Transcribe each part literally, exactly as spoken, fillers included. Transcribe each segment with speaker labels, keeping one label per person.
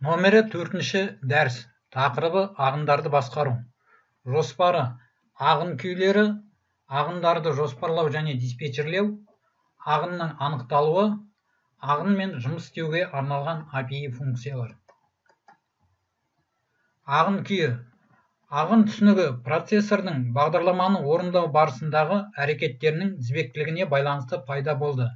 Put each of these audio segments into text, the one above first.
Speaker 1: Номері төртінші дәріс. Тақырыбы ағындарды басқару. Жоспары ағын күйлері, ағындарды жоспарлау және диспетчерлеу, ағынның анықталуы, ағынмен жұмыс істеуге арналған эй пи ай функциялар. Ағын күйі. Ағын түсінігі процессордың бағдарламаны орындау барысындағы әрекеттерінің тізбектілігіне байланысты пайда болды.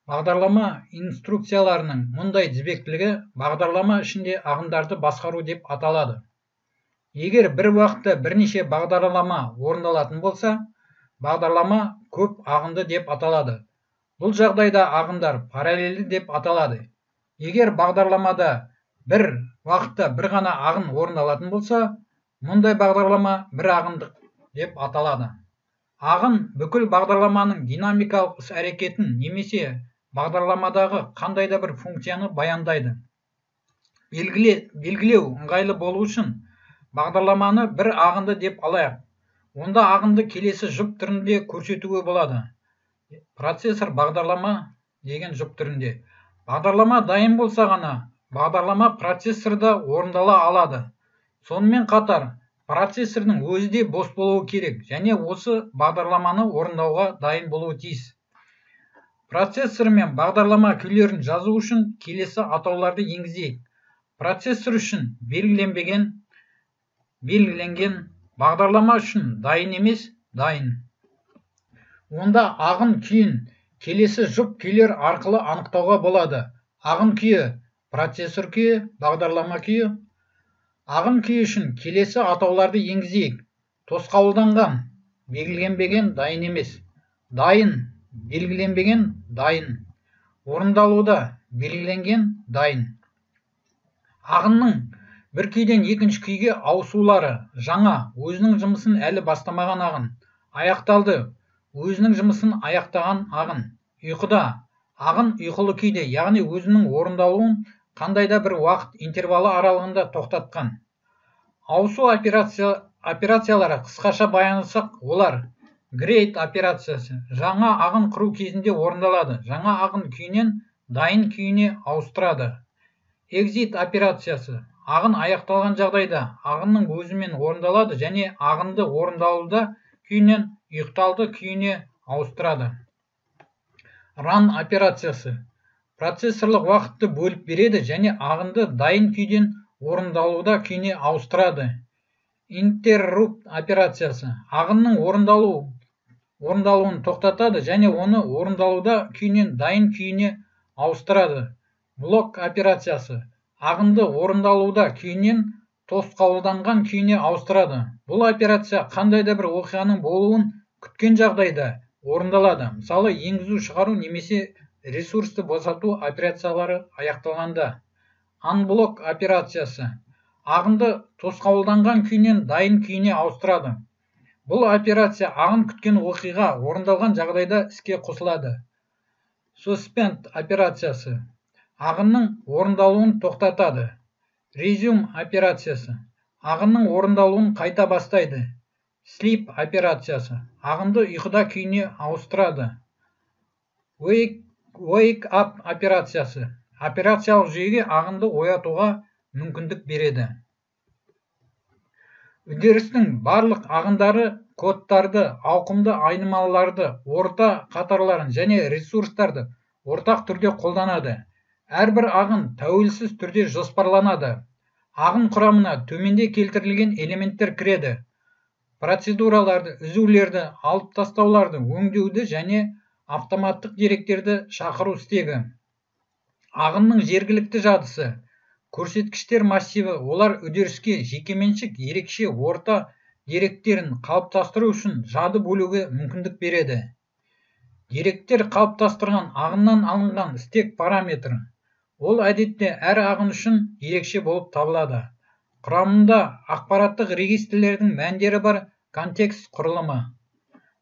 Speaker 1: Бағдарлама инструкцияларының мұндай тізбектілігі бағдарлама ішінде ағындарды басқару деп аталады. Егер бір уақытта бірнеше бағдарлама орындалатын болса, бағдарлама көп ағынды деп аталады. Бұл жағдайда ағындар параллельді деп аталады. Егер бағдарламада бір уақытта бір ғана ағын орындалатын болса, мұндай бағдарлама бір ағындық деп аталады. Ағын бүкіл бағдарламаның динамикалық іс-әрекетін немесе бағдарламадағы қандай да бір функцияны баяндайды. Белгілеу ыңғайлы болу үшін бағдарламаны бір ағынды деп алайық. Онда ағынды келесі жұп түрінде көрсетуге болады. Процессор бағдарлама деген жұп түрінде. Бағдарлама дайын болса ғана, бағдарлама процессорда орындала алады. Сонымен қатар, процессордың өзі де бос болуы керек, және осы бағдарламаны орындауға дайын болуы тиіс. Процессор мен бағдарлама күйлерін жазу үшін келесі атауларды енгізейік. Процессор үшін белгіленбеген, белгіленген, бағдарлама үшін дайын емес, дайын. Онда ағын күйін келесі жұп күйлер арқылы анықтауға болады. Ағын күйі, процессор күйі, бағдарлама күйі. Ағын күйі үшін келесі атауларды енгізейік. Тосқауылданған, белгіленбеген, дайын емес. Дайын, белгіленбеген, дайын. Орындалуда, белгіленген, дайын. Ағынның бір күйден екінші күйге ауысулары. Жаңа, өзінің жұмысын әлі бастамаған ағын. Аяқталды, өзінің жұмысын аяқтаған ағын. Ұйқыда, ағын ұйқылы күйде, яғни өзінің орындалуын қандай да бір уақыт интервалы аралығында тоқтатқан. Ауысу операциялары қысқаша баяндасақ, олар грейд операциясы жаңа ағын құру кезінде орындалады. Жаңа ағын күйінен дайын күйіне ауыстырады. Exit операциясы ағын аяқталған жағдайда ағынның өзімен орындалады және ағынды орындалуда күйінен ұйықталды күйіне ауыстырады. Run операциясы процессорлық уақытты бөліп береді және ағынды дайын күйден орындалуда күйіне ауыстырады. Interrupt операциясы ағынның орындалу орындалуын тоқтатады және оны орындалуда күйінен дайын күйіне ауыстырады. Блок операциясы ағынды орындалуда күйінен тосқауылданған күйіне ауыстырады. Бұл операция қандай да бір оқиғаның болуын күткен жағдайда орындалады. Мысалы, енгізу шығару немесе ресурсты босату операциялары аяқталғанда. Unblock операциясы ағынды тосқауылданған күйінен дайын күйіне ауыстырады. Бұл операция ағын күткен оқиға орындалған жағдайда іске қосылады. Suspend операциясы ағынның орындалуын тоқтатады. Resume операциясы ағынның орындалуын қайта бастайды. Sleep операциясы ағынды ұйқыда күйіне ауыстырады. Wake, wake up операциясы операциялық жүйеге ағынды оятуға мүмкіндік береді. Үдерістің барлық ағындары кодтарды, ауқымды айнымалыларды, орта қатарларын және ресурстарды ортақ түрде қолданады. Әрбір ағын тәуелсіз түрде жоспарланады. Ағын құрамына төменде келтірілген элементтер кіреді. Процедураларды, үзулерді, алып тастауларды, өңдеуді және автоматтық деректерді шақыру стегі. Ағынның жергілікті жадысы, көрсеткіштер массиві, олар үдеріске жекеменшік ерекше орта деректерін қалыптастыру үшін жады бөлуге мүмкіндік береді. Деректер қалыптастырған ағыннан алынған стек параметр. Ол әдетте әр ағын үшін ерекше болып табылады. Құрамында ақпараттық регистрлердің мәндері бар контекст құрылымы.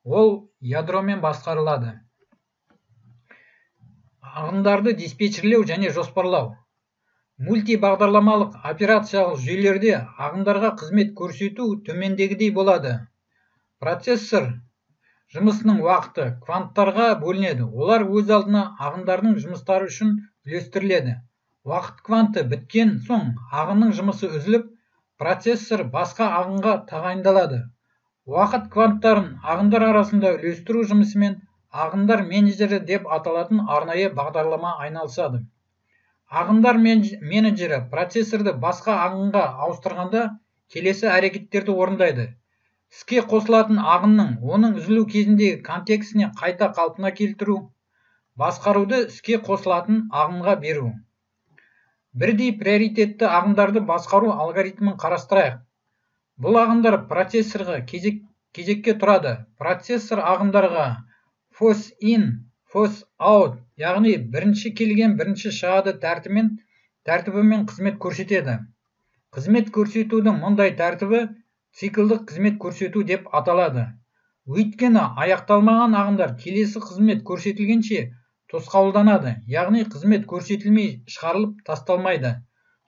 Speaker 1: Ол ядромен басқарылады. Ағындарды диспетчерлеу және жоспарлау. Мультибағдарламалық операциялық жүйелерде ағындарға қызмет көрсету төмендегідей болады. Процессор жұмысының уақыты кванттарға бөлінеді. Олар өз алдына ағындардың жұмыстары үшін үлестіріледі. Уақыт кванты біткен соң ағынның жұмысы үзіліп, процессор басқа ағынға тағайындалады. Уақыт кванттарын ағындар арасында үлестіру жұмысымен ағындар менеджері деп аталатын арнайы бағдарлама айналысады. Ағындар менеджері процессорды басқа ағынға ауыстырғанда келесі әрекеттерді орындайды. Іске қосылатын ағынның оның үзілу кезіндегі контекстіне қайта қалпына келтіру, басқаруды іске қосылатын ағынға беру. Бірдей приоритетті ағындарды басқару алгоритмін қарастырайық. Бұл ағындар процессорға кезек, кезекке тұрады. Процессор ағындарға force in, force out, яғни бірінші келген бірінші шығады тәртібімен, тәртібімен қызмет көрсетеді. Қызмет көрсетудің мұндай тәртібі циклдық қызмет көрсету деп аталады. Өйткені аяқталмаған ағындар келесі қызмет көрсетілгенше тосқауылданады, яғни қызмет көрсетілмей шығарылып тасталмайды.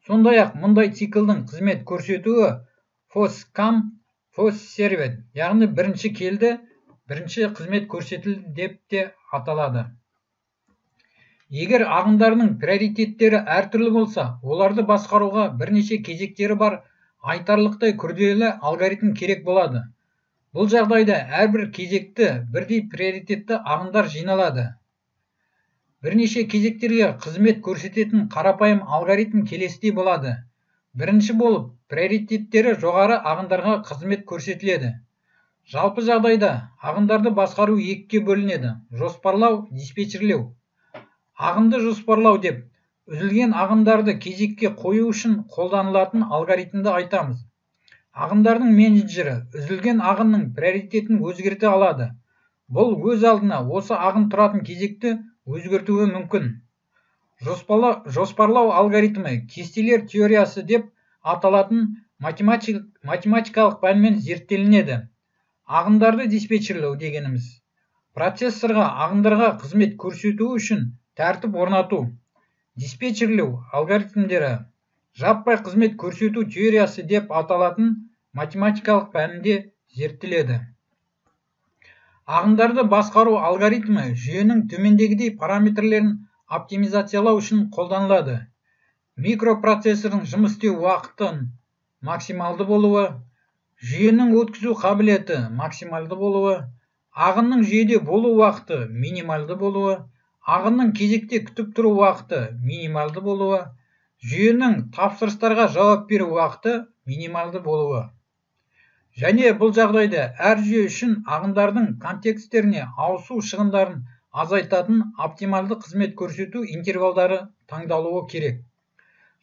Speaker 1: Сондай-ақ мұндай циклдің қызмет көрсетуі first come, first served, яғни бірінші келді, бірінші қызмет көрсетілді деп те аталады. Егер ағындарының приоритеттері әртүрлі болса, оларды басқаруға бірнеше кезектері бар айтарлықтай күрделі алгоритм керек болады. Бұл жағдайда әрбір кезекті бірдей приоритетті ағындар жиналады. Бірнеше кезектерге қызмет көрсететін қарапайым алгоритм келесідей болады. Бірінші болып, приоритеттері жоғары ағындарға қызмет көрсетіледі. Жалпы жағдайда ағындарды басқару екіге бөлінеді: жоспарлау, диспетчерлеу. Ағынды жоспарлау деп үзілген ағындарды кезекке қою үшін қолданылатын алгоритмді айтамыз. Ағындардың менеджері үзілген ағынның приоритетін өзгерте алады. Бұл өз алдына осы ағын тұратын кезекті өзгертуі мүмкін. Жоспарлау, жоспарлау алгоритмі кестелер теориясы деп аталатын математик, математикалық пәнмен зерттелінеді. Ағындарды диспетчерлеу дегеніміз процессорға ағындарға қызмет көрсету үшін тәртіп орнату. Диспетчерлеу алгоритмдері жаппай қызмет көрсету теориясы деп аталатын математикалық пәнінде зерттеледі. Ағындарды басқару алгоритмі жүйенің төмендегідей параметрлерін оптимизациялау үшін қолданылады. Микропроцессордың жұмыс істеу уақытын максималды болуы, жүйенің өткізу қабілеті максималды болуы, ағынның жүйеде болу уақыты минималды болуы, ағынның кезекте күтіп тұру уақыты минималды болуы, жүйенің тапсырыстарға жауап беру уақыты минималды болуы. Және бұл жағдайда әр жүйе үшін ағындардың контексттеріне ауысу шығындарын азайтатын оптималды қызмет көрсету интервалдары таңдалуы керек.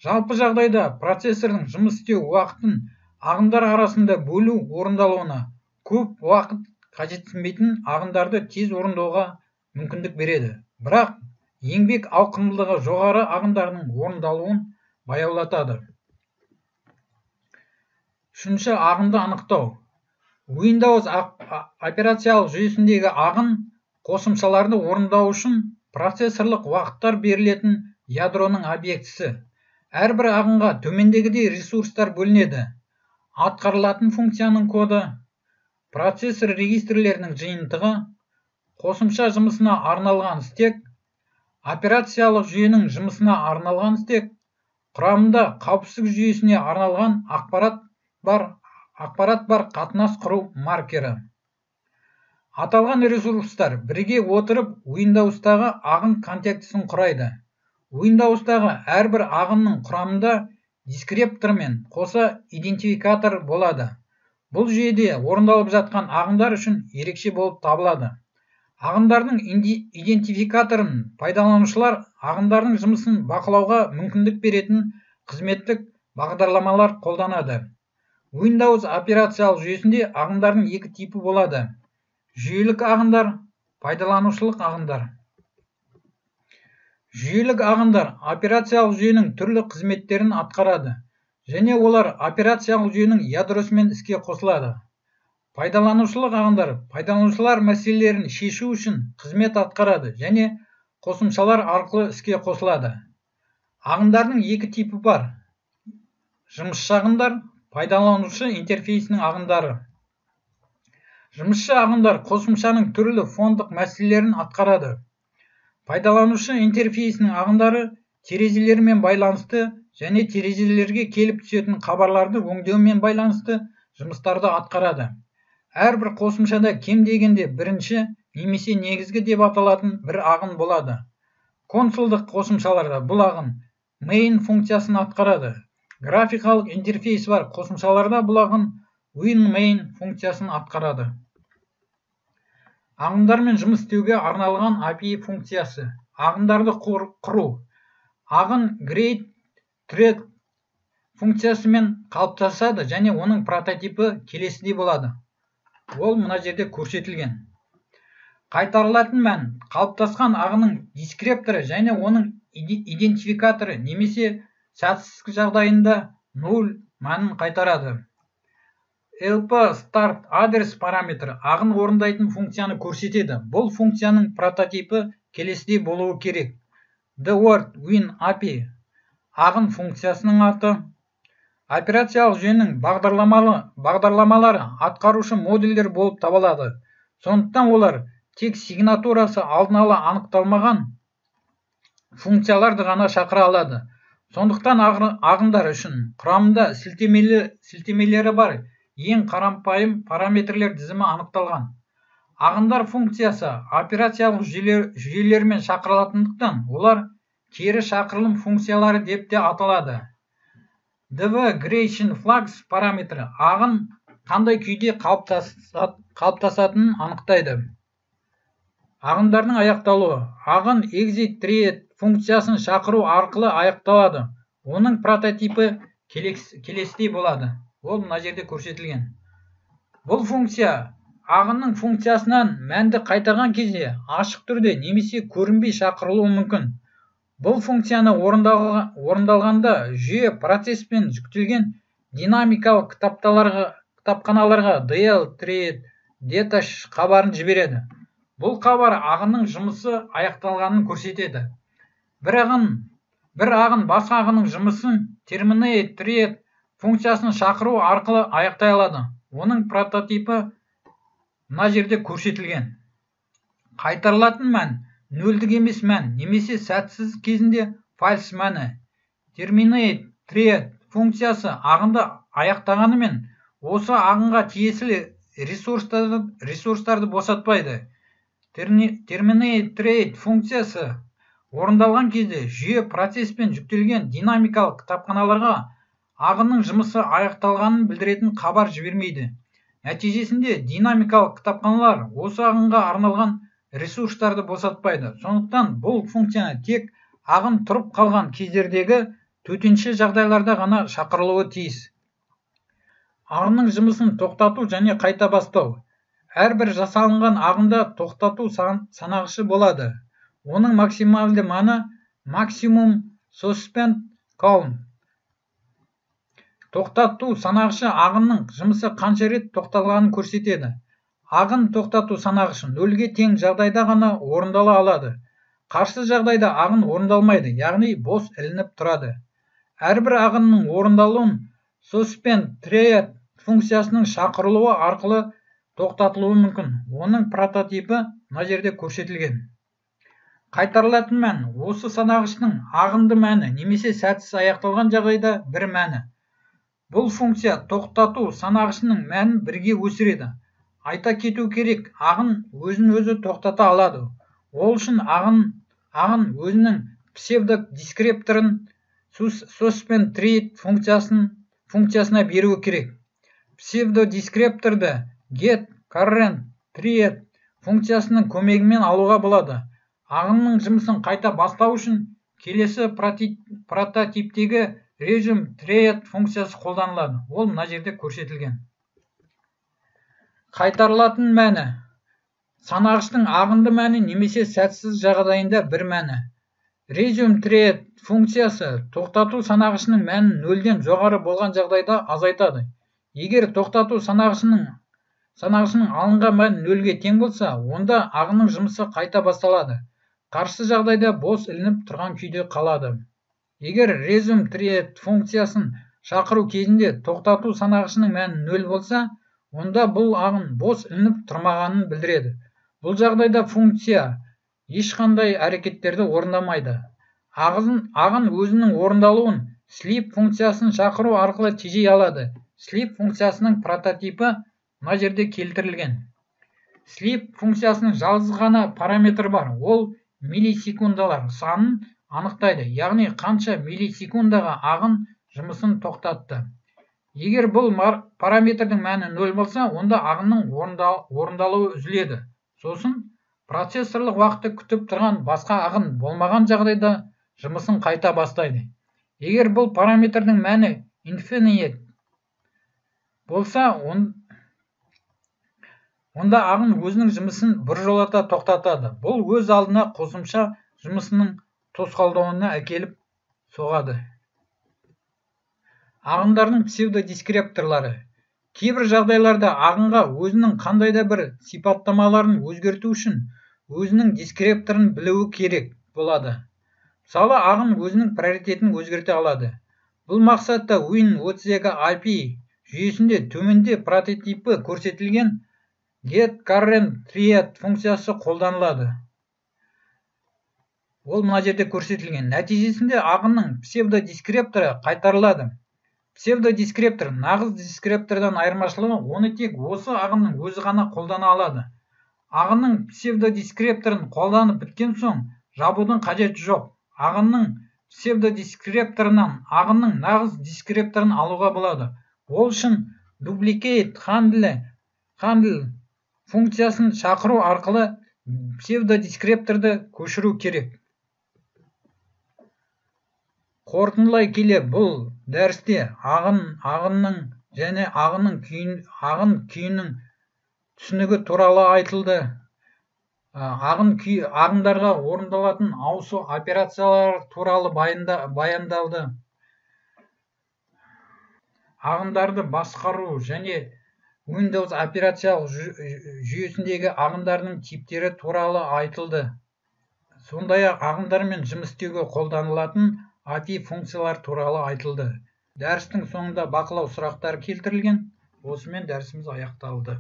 Speaker 1: Жалпы жағдайда процессордың жұмыс істеу уақытын ағындар арасында бөлу орындалуына көп уақыт қажетсінбейтін ағындарды тез орындауға мүмкіндік береді. Бірақ еңбек ауқымдылығы жоғары ағындарының орындалуын баяулатады. Үшінші, ағынды анықтау. Windows операциялық жүйесіндегі ағын қосымшаларды орындау үшін процессорлық уақыттар берілетін ядроның объектісі. Әрбір ағынға төмендегідей ресурстар бөлінеді: атқарылатын функцияның коды, процессор регистрлерінің жиынтығы, қосымша жұмысына арналған стек, операциялық жүйенің жұмысына арналған стек, құрамында қауіпсіздік жүйесіне арналған ақпарат бар, ақпарат бар қатынас құру маркері. Аталған ресурстар бірге отырып Windows'тағы ағын контекстісін құрайды. Windows'тағы әрбір ағынның құрамында дискриптормен қоса идентификатор болады. Бұл жүйеде орындалып жатқан ағындар үшін ерекше болып табылады. Ағындардың идентификаторын пайдаланушылар ағындардың жұмысын бақылауға мүмкіндік беретін қызметтік бағдарламалар қолданады. Windows операциялық жүйесінде ағындардың екі типі болады: жүйелік ағындар, пайдаланушылық ағындар. Жүйелік ағындар операциялық жүйенің түрлі қызметтерін атқарады, және олар операциялық жүйенің ядросымен іске қосылады. Пайдаланушылық ағындар пайдаланушылар мәселелерін шешу үшін қызмет атқарады және қосымшалар арқылы іске қосылады. Ағындардың екі типі бар: жұмысшы ағындар, пайдаланушы интерфейсінің ағындары. Жұмысшы ағындар қосымшаның түрлі фондық мәселелерін атқарады. Пайдаланушы интерфейсінің ағындары терезелермен байланысты және терезелерге келіп түсетін хабарларды өңдеумен байланысты жұмыстарды атқарады. Әрбір қосымшада кем дегенде бірінші немесе негізгі деп аталатын бір ағын болады. Консольдық қосымшаларда бұл ағын main функциясын атқарады. Графикалық интерфейс бар қосымшаларда бұл ағын winMain функциясын атқарады. Ағындармен жұмыс істеуге арналған эй пи ай функциясы. Ағындарды құру. Ағын createThread функциясымен қалыптасады және оның прототипі келесідей болады. Ол мына жерде көрсетілген. Қайтарылатын мән қалыптасқан ағының дискрипторы және оның идентификаторы немесе сәтсіздік жағдайында нөл мәнін қайтарады. lp_start адрес параметрі ағын орындайтын функцияны көрсетеді. Бұл функцияның прототипі келесідей болуы керек. The_word win эй пи ай ағын функциясының аты. Операциялық жүйенің бағдарламалары атқарушы модульдер болып табылады. Сондықтан олар тек сигнатурасы алдын ала анықталмаған функцияларды ғана шақыра алады. Сондықтан ағындар үшін құрамында сілтемелері бар ең қарапайым параметрлер тізімі анықталған. Ағындар функциясы операциялық жүйелермен шақырылатындықтан олар кері шақырылым функциялары деп те аталады. dvGradationFlux параметрі ағын қандай күйде қалыптасатынын анықтайды. Ағындардың аяқталуы. Ағын exitThread функциясын шақыру арқылы аяқталады. Оның прототипі келесідей болады. Ол мына жерде көрсетілген. Бұл функция ағынның функциясынан мәнді қайтарған кезде ашық түрде немесе көрінбей шақырылуы мүмкін. Бұл функцияны орындалғанда жүйе процеспен жүктелген динамикалық кітапханаларға dlthread detash хабарын жібереді. Бұл хабар ағынның жұмысы аяқталғанын көрсетеді. Бір ағын басқа ағынның жұмысын terminateThread функциясын шақыру арқылы аяқтай алады. Оның прототипі мына жерде көрсетілген. Қайтарылатын мән нөлдік емес мән немесе сәтсіз кезінде false мәні. terminateThread функциясы ағынды аяқтағанымен осы ағынға тиесілі ресурстарды босатпайды. terminateThread функциясы орындалған кезде жүйе процеспен жүктелген динамикалық кітапханаларға ағынның жұмысы аяқталғанын білдіретін хабар жібермейді. Нәтижесінде динамикалық кітапханалар осы ағынға арналған ресурстарды босатпайды. Сондықтан бұл функцияны тек ағын тұрып қалған кездердегі төтенше жағдайларда ғана шақырылуы тиіс. Ағынның жұмысын тоқтату және қайта бастау. Әрбір жасалынған ағында тоқтату санағышы болады. Оның максималды маны maximum suspend count. Тоқтату санағышы ағынның жұмысы қанша рет тоқтатылғанын көрсетеді. Ағын тоқтату санағышы нөлге тең жағдайда ғана орындала алады. Қарсы жағдайда ағын орындалмайды, яғни бос ілініп тұрады. Әрбір ағынның орындалуын suspendThread функциясының шақырылуы арқылы тоқтатылуы мүмкін. Оның прототипі мына жерде көрсетілген. Қайтарылатын мән осы санағыштың ағынды мәні немесе сәтсіз аяқталған жағдайда бір мәні. Бұл функция тоқтату санағышының мәнін бірге өсіреді. Айта кету керек, ағын өзін өзі тоқтата алады. Ол үшін ағын өзінің псевдодискрипторын suspendThread функциясына беруі керек. Псевдодискрипторды getCurrentThread функциясының көмегімен алуға болады. Ағынның жұмысын қайта бастау үшін келесі прототиптегі resumeThread функциясы қолданылады. Ол мына жерде көрсетілген. Қайтарылатын мәні. Санағыштың ағынды мәні немесе сәтсіз жағдайында бір мәні. resumeThread функциясы тоқтату санағышының мәнін нөлден жоғары болған жағдайда азайтады. Егер тоқтату санағышының алынған мән нөлге тең болса, онда ағынның жұмысы қайта басталады. Қарсы жағдайда бос ілініп тұрған күйде қалады. Егер resumeThread функциясын шақыру кезінде тоқтату санағышының мәні нөл болса, онда бұл ағын бос ілініп тұрмағанын білдіреді. Бұл жағдайда функция ешқандай әрекеттерді орындамайды. ағын, ағын өзінің орындалуын sleep функциясын шақыру арқылы тежей алады. Sleep функциясының прототипі мына жерде келтірілген. Sleep функциясының жалғыз ғана параметр бар. Ол миллисекундалар санын анықтайды, яғни қанша миллисекундаға ағын жұмысын тоқтатты. Егер бұл параметрдің мәні нөл болса, онда ағынның орындалуы үзіледі. Сосын процессорлық уақытты күтіп тұрған басқа ағын болмаған жағдайда жұмысын қайта бастайды. Егер бұл параметрдің мәні infinite болса, онда ағын өзінің жұмысын біржолата тоқтатады. Бұл өз алдына қосымша жұмысының тосқалдауына әкеліп соғады. Ағындардың псевдодискрипторлары. Кейбір жағдайларда ағынға өзінің қандай да бір сипаттамаларын өзгерту үшін өзінің дискрипторын білуі керек болады. Мысалы, ағын өзінің приоритетін өзгерте алады. Бұл мақсатта Win отыз екі ай пи жүйесінде төменде прототипі көрсетілген getCurrentThread функциясы қолданылады. Ол мына жерде көрсетілген. Нәтижесінде ағынның псевдодискрипторы қайтарылады. Псевдодискриптор нағыз дискриптордан айырмашылығы, оны тек осы ағынның өзі ғана қолдана алады. Ағынның псевдодискрипторын қолданып біткен соң жабудың қажеті жоқ. Ағынның псевдодискрипторынан ағынның нағыз дискрипторын алуға болады. Ол үшін duplicate handle handle функциясын шақыру арқылы псевдодискрипторды көшіру керек. Қорытындылай келе, бұл дәрісте ағын, ағынның және ағынның күйін, ағын күйінің түсінігі туралы айтылды. Ағын күй, ағындарға орындалатын ауысу операциялары туралы баяндалды. Ағындарды басқару және Windows операциялық жүйесіндегі ағындардың типтері туралы айтылды. Сондай-ақ ағындармен жұмыс істеуге қолданылатын эй пи ай функциялар туралы айтылды. Дәрістің соңында бақылау сұрақтары келтірілген. Осымен дәрісіміз аяқталды.